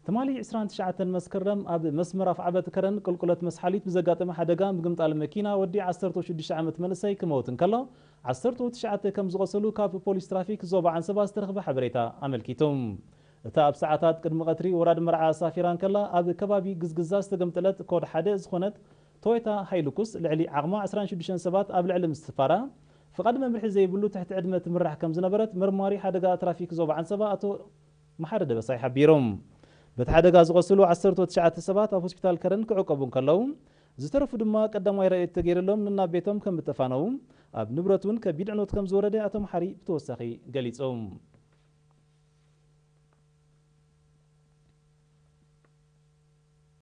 ትማሊ ዕስራን ትሽዓተን መስከረም ኣብ መስመር ኣፍዓበት ከረን ቁልቁለት መስሓሊት ብዘጋጠመ ሓደጋ ምግምጣል መኪና ወዲ ዓሰርተ ሽዱሽተ ዓመት መንእሰይ ክመውት እንከሎ፣ ዓሰርተ ትሽዓተ ከም ዝቖሰሉ ካብ ፖሊስ ትራፊክ ዞባ ዓንሰባ ዝተረኽበ ሓበሬታ ኣመልኪቱ። እታ ኣብ ሰዓታት ቅድሚ ቀትሪ ወራድ መርዓ ኣሳፊራ እንከላ ኣብ ከባቢ ግዝግዛ ዝተገምጠለት ኮድ ሓደ ዝኾነት ቶዮታ ሃይሉኩስ ልዕሊ ዓቕማ ዕስራን ሽዱሽተን ሰባት ኣብ ልዕሊ ምስፋራ፣ ፍቓድ መምርሒ ዘይብሉ ትሕቲ ዕድመ ትምራሕ ከም ዝነበረት መርማሪ ሓደጋ ትራፊክ ዞባ ዓንሰባ ኣቶ መሓሪ ደበሳይ ሓቢሮም። በቲ ሓደጋ ዝቖሰሉ ዓሰርተ ትሽዓተ ሰባት ኣብ ሆስፒታል ከረን ክዕቀቡ እንከለዉ፣ ዝተረፉ ድማ ቀዳማይ ረድኤት ተገይርሎም ንናብ ቤቶም ከም እተፋነዉ፣ ኣብ ንብረት እውን ከቢድ ዕንወት ከም ዝወረደ ኣቶ መሓሪ ብተወሳኺ ገሊጾም።